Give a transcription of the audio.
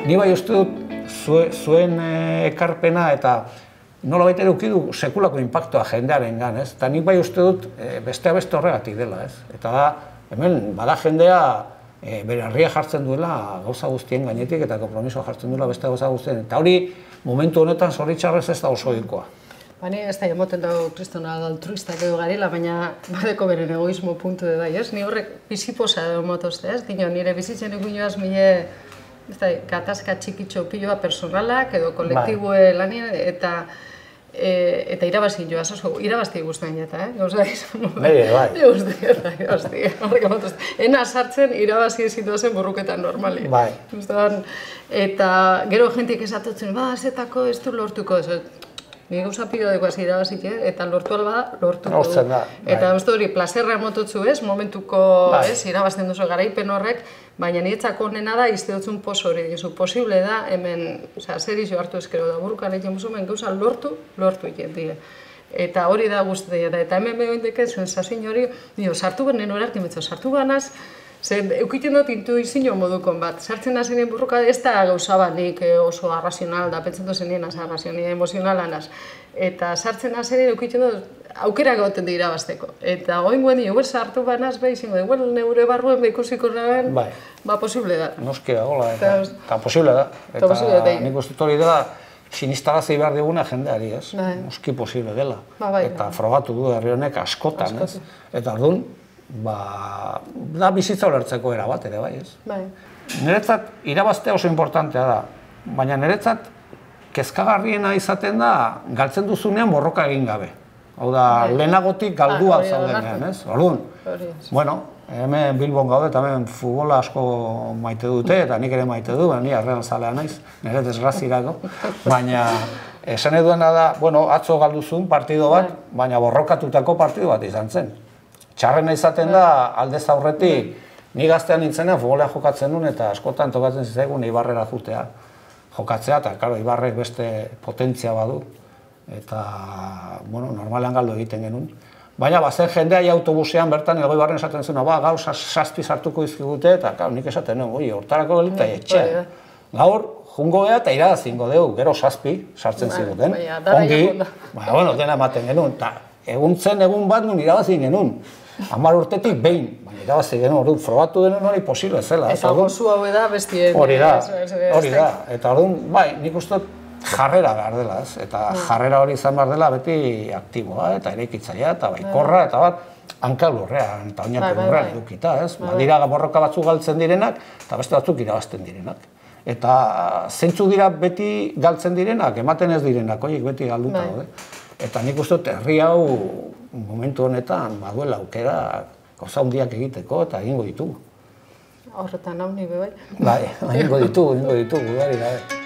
Ni bai uste dut zuen ekarpena eta nola baita eduki du sekulako inpaktua jendearengan, ez? Eta nik bai uste dut beste horregatik dela, ez? Eta da, hemen bada jendea bere harria jartzen duela gauza guztien gainetik eta konpromisoa jartzen duela beste gauza guztien. Eta hori momentu honetan zoritxarrez ez da oso ohikoa. Bani ez da emoten dago kristona altruistak edo garela, baina badeko beren egoismo puntu de bai, ez? Ni horrek biziposa edo motozte, ez? Dino, nire bizitzen ikuinoaz mile gatazka txikitxo piloa personalak edo kolektibue lanien eta irabazi joaz, oso irabazti guztien jeta, gauza izan modu. Bai. Irabazti. Ena sartzen irabazi zituazen borruketan normali. Bai. Eta gero jentik esatotzen, zetako ez du lortuko, ni gauza pilo dekoaz irabazik, eta lortu alba, lortuko du. Eta uste hori, plazerra emototzu ez, momentuko irabazten duzu garaipen horrek, baina niretzako onena da, izte dutzun pos hori dizu. Posible da, hemen, zer izo hartu ezkero da, burukan egin musumen gauza lortu egin die. Eta hori da guzti, eta hemen behoindeke zuen sasien hori, sartu benen horartin betzo, sartu banaz, eukiten dut intuizio modukon bat. Sartzen da zenien burruka ez da gauza bat nik oso arrazional da, pentsen dut zenien arrazional, emozionalanaz. Eta sartzen da zenien eukiten dut aukera gauten dira bazteko. Eta goingoen dira, sartu banaz behi zingo, neure barruen behikusiko naben, posible da. Noski da, gola, eta posible da. Eta nik uste hori dela, sinistarazi behar diguna jendeari, ez? Noski posible dela. Eta frogatu du herri honek askotan, ez? Eta orduan, da bizitza ulertzeko era bat ere, bai, ez? Niretzat irabaztea oso importantea da, baina niretzat kezkagarriena izaten da galtzen duzunean borroka egin gabe. Hau da, lehenagotik galdua zaudenean, ez? Orduan, bueno, hemen Bilbon gaude eta hemen futbola asko maite dute, eta nik ere maite du, ni arrean zalea naiz, nire desgrazirako, baina esan eduena da, bueno, atzo galduzun partido bat, baina borrokatutako partido bat izan zen. Txarrena izaten da, aldez aurretik, ni gaztean nintzenean futbolea jokatzen nuen eta askotan tokatzen zitzaigun Eibarrera jutea jokatzea, eta, karo, Eibarrek beste potentzia badu, eta, bueno, normalean galdu egiten genuen. Baina, zen jendea autobusean bertan Elgoibarren esaten zuen, gaur 7 sartuko izkigute, eta, karo, nik esaten nuen, hortarako gelita etxean. Gaur, jungo geha eta irabazingo dugu, gero 7 sartzen ziguten. Ongi, bueno, dena ematen genuen, eta egun bat nun irabazin genuen. 10 urtetik behin, baina irabazi genuen, orduan, frogatu denuen hori posible zela. Eta gozu hau da bestien... Hori da, eta orduan, bai, nik uste jarrera behar dela, ez? Eta jarrera hori izan behar dela beti aktiboa, eta eraikitzailea, eta baikorra, eta bat, hanka lurrean, eta oinarri lurrean edukita, ez? Dira borroka batzuk galtzen direnak, eta beste batzuk irabazten direnak. Eta zeintzu dira beti galtzen direnak, ematen ez direnak, horiek beti galduta daude. Eta nik uste dut herri hau momentu honetan baduela aukera gauza handiak egiteko eta egingo ditugu. Horretan hau nire bai? Bai, egingo ditugu, gudari gabe.